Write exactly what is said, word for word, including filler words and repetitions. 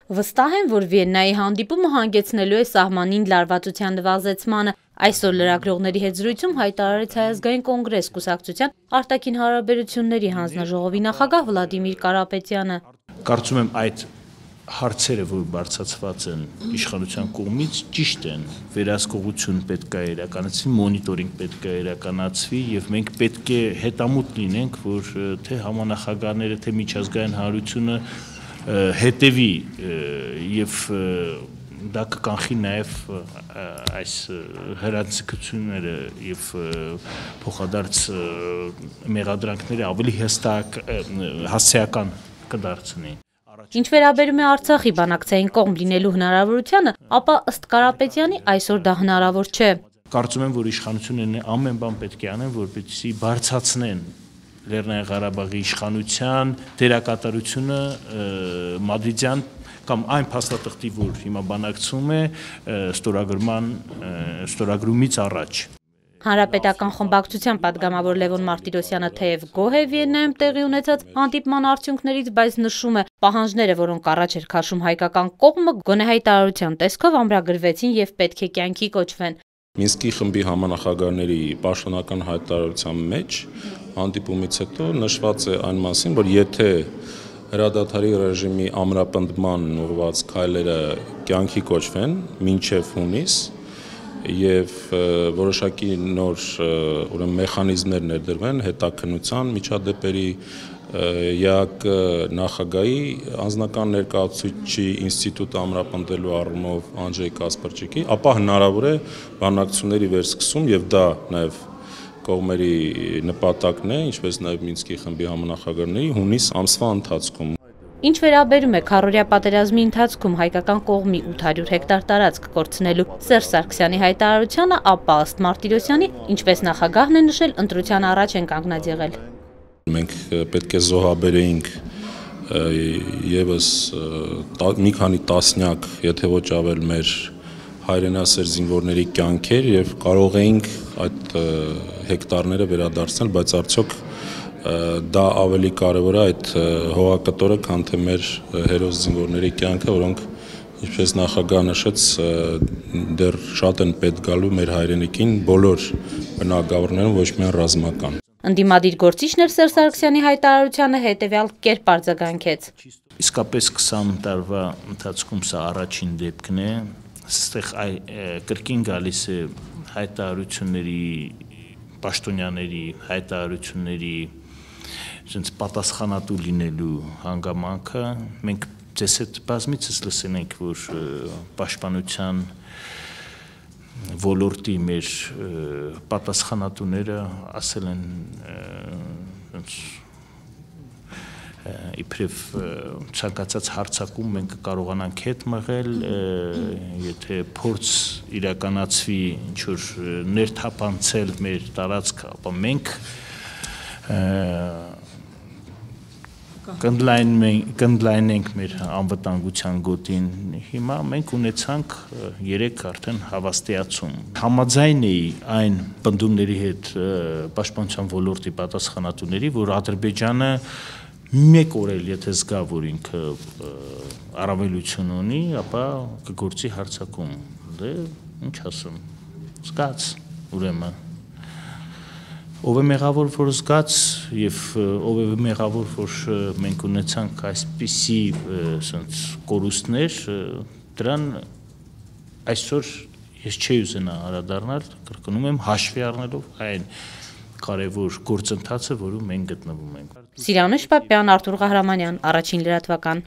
Վստահ են, որ Վիեննայի հանդիպումը հանգեցնելու է սահմանին լարվածության նվազեցմանը։ Այսօր լրագրողների հետ զրույցում հայտարարեց Հայ ազգային կոնգրես կուսակցության արտաքին հարաբերությունների հանձնաժողովի նախագահ Վլադիմիր Կարապետյանը։ Կարծում եմ այդ հարցերը, որ բարձրացված են իշխանության կողմից, ճիշտ են, վերահսկողություն պետք է իրականացվի, մոնիտորինգ պետք է իրականացվի եւ մենք պետք է հետամուտ լինենք, որ թե համանախագահները, թե միջազգային հանրությունը հետևի եւ դա կկանխի նաեւ այս հրաձգությունները եւ փոխադարձ մեղադրանքները ավելի հստակ հասցեական կդարձնի։ Ինչ վերաբերում է Արցախի բանակցային կողմ լինելու հնարավորությանը, ապա ըստ Կարապետյանի այսօր դա հնարավոր չէ։ Կարծում եմ, որ իշխանություններն ամեն բան պետք է անեն, որպեսզի բարձրացնեն Լեռնային Ղարաբաղի իշխանության դերակատարությունը մադրիդյան կամ այն փաստաթղթի, որ հիմա բանակցում է ստորագրման ստորագրումից առաջ։ Հանրապետական խմբակցության պատգամավոր Լևոն Մարտիրոսյանը թեև գոհ է Վիեննայում տեղի ունեցած հանդիպման արդյունքներից, բայց նշում է, պահանջները, որոնք առաջ էր քաշում հայկական կողմը, գոնե հայտարարության տեսքով ամրագրվեցին եւ պետք է կյանքի կոչվեն։ Մինսկի խմբի համանախագահների պաշտոնական հայտարարության մեջ հանդիպումից հետո նշված է այն մասին, որ եթե հրադադարի ռեժիմի ամրապնդման ուղղված քայլերը կյանքի կոչվեն մինչև հունիս եւ որոշակի նոր ուրեմն մեխանիզմներ ներդրվեն հետաքննության միջադեպերի ԵԱԿ նախագահի անձնական ներկայացուցիչի ինստիտուտը ամրապնդելու առումով Անջեյ Կասպարչիկի, ապա հնարավոր է բանակցությունների վերսկսում եւ դա նաեւ կողմերի նպատակն է, ինչպես նաեւ Մինսկի խմբի համանախագահների հունիս ամսվա ընթացքում։ Ինչ վերաբերում է քառօրյա պատերազմի ընթացքում հայկական կողմի ութ հարյուր հեկտար տարածք կորցնելու Սերժ Սարգսյանի հայտարարությանը, ապա ըստ Մարտիրոսյանի, ինչպես նախագահն է նշել, ընտրության առաջ են կանգնած եղել։ Մենք պետք է զոհաբերեինք եւս մի քանի տասնյակ, եթե ոչ ավել մեր հայրենասեր զինվորների կյանքեր եւ կարող էինք այդ հեկտարները վերադարձնել, բայց արդյոք դա ավելի կարևոր է այդ հողակտորը, քան թե մեր հերոս զինվորների կյանքը, որոնք ինչպես նախագահ նշեց, դեռ շատ են պետք գալու մեր հայրենիքին բոլոր բնակավարներում, ոչ միայն ռազմական։ Ընդդիմադիր գործիչն էր Սերժ Սարգսյանի հայտարարությանը հետևյալ կերպ արձագանքեց։ Իսկապես քսան տարվա ընթացքում սա առաջին դեպքն է, այստեղ կրկին գալիս է հայտարարությունների, պաշտոնյաների հայտարարությունների sense պատասխանատու լինելու հանգամանքը, մենք ձեզ հետ բազմիցս լսել ենք, որ պաշտպանության ոլորտի մեր պատասխանատուները ասել են իբրև ցանկացած հարցակում մենք կարողանանք հետ մղել, եթե փորձ իրականացվի ինչ-որ ներթափանցել մեր տարածքը, ապա մենք կընդլայնենք մեր անվտանգության գոտին։ Հիմա մենք ունեցանք երեք արդեն հավաստիացում։ Համաձայն էի այն պնդումների հետ պաշտպանության ոլորտի պատասխանատուների, որ Ադրբեջանը մեկ օր էլ եթե զգա, որ ինքը առավելություն ունի, ապա կգործի հարձակում։ Դե ինչ ասում, զգաց ուրեմն։ Ով է մեղավոր, որ զգաց եւ ով է մեղավոր, որ մենք ունեցանք այսպիսի կորուստներ, դրան այսօր ես չի ուզենա անդրադառնալ, կրկնում եմ, հաշվի առնելով այն կարևոր գործընթացը, որում մենք գտնվում ենք։ Սիրանուշ Պապյան, Արթուր Ղահրամանյան, Առաջին լրատվական։